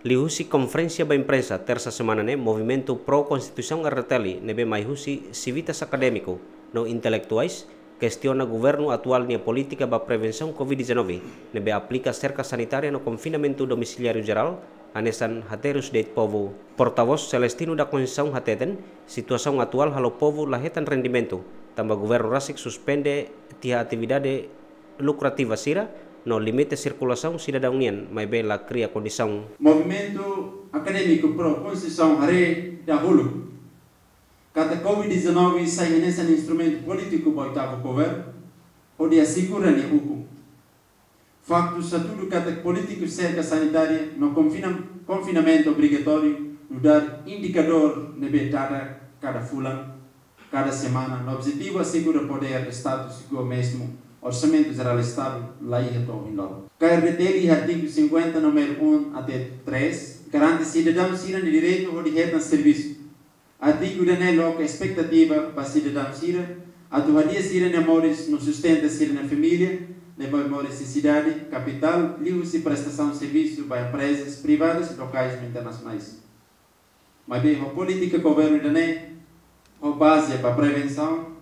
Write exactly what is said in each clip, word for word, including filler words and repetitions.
Liuhusi konferénsia ba imprensa Tersa semana ne'e, Movimentu Pro Konstituisaun R D T L ne'ebé mai husi sivitas akadémiku no intelektuais kestiona governu atuál nia polítika ba prevensaun covid dezanove, ne'ebé aplika serka sanitária no konfinamentu domisiliáriu jerál hanesan haterus de'it povu. Portavós Celestino da Conceição hateten, situasaun atuál halo povu la hetan rendimentu, tanba governu rasik suspende tiha atividade lukrativa sira no limita sirkulasaun sidadaun nian, maibé la kria kondisaun. Movimentu Akadémiku Pro Konstituisaun haree dahuluk katak covid dezanove sai hanesan instrumentu polítiku ba oitavu governu hodi asegura nia ukun. Faktu sá tudu katak polítika serka sanitária no konfina-, konfinamentu obrigatóriu nu'udar indikadór ne'ebé dada kada fulan, kada semana, no objetivu asegura podér Estadu, sigur mezmu Orsamentu Jerál Estadu la iha to'o ohin loron. K R D T L artigu cinquenta, númeru um até três, garante sidadaun sira-nia direitu hodi hetan servisu. Artigu ida-ne'e loke espetativa ba sidadaun sira atu hadi'a sira-nia moris no sustenta sira-nia família, ne'ebé moris iha sidade kapitál, liuhusi prestasaun servisu ba emprezas privadas lokais no internasionais. Maibé ho polítika governu ida-ne'e, ho baze ba prevensaun,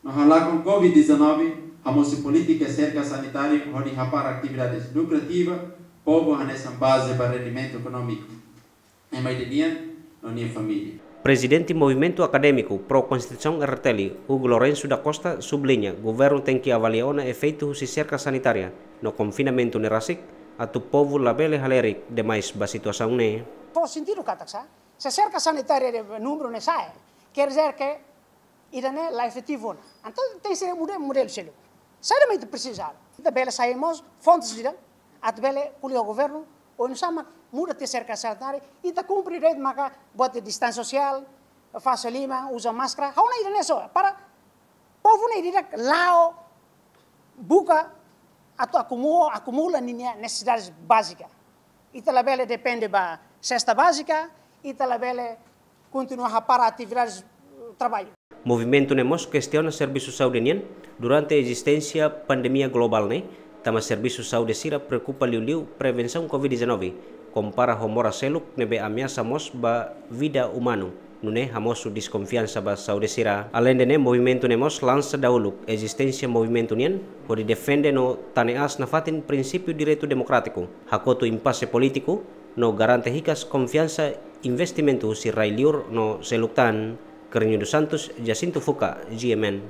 no halakon covid dezanove, hamosu polítika serka sanitária hodi hapara atividades lukrativa, povu hanesan baze ba rendimentu ekonómiku ema ida nian no nia família. Prezidente Movimentu Akadémiku Pro Konstituisaun R D T L, Hugo Lourenço da Costa, subliña governu tenke avalia ona efeitu husi serka sanitária no konfinamentu ne'e rasik, atu povu labele halerik demais ba situasaun ne'e. Fó sentidu katak sá, se serka sanitária de númeru ne'e sa'e, quer dizer que ida-ne'e la efetivu ona. Entaun tenke ser muda modelu seluk. Saida mak ita presiza? Ita bele sai mós fontes ida atu bele ko'alia ho governu, oinsá mak muda tiha serka sanitária, ita kumpre de'it maka buat distánsia sosiál, fase liman, uza máskara, ha'u hanoin ida-ne'e só, para povu ne'e ida la'o buka atu akumula, akumula ninia nesesidade bázika. Ita labele depende ba sesta bázika, ita labele kontinua hapara atividades, eh, traballu. Movimentu ne'e mós kestiona servisu saúde nian durante ezisténsia pandemia globál ne'e, tanba servisu saúde sira preokupa liuliu prevensaun covid dezanove, kompara ho moras seluk ne'ebé ameasa mós ba vida umanu, nune'e hamosu deskonfiansa ba saúde sira. Aleinde ne'e, movimentu ne'e mós lansa dahuluk ezisténsia movimentu nian hodi defende no tane aas nafatin prinsípiu direitu demokrátiku, hakotu impase polítiku, no garante hikas konfiansa investimentu husi rai-liur no seluk tan. Carlinho dos Santos, Jacinto Fuca, G M N.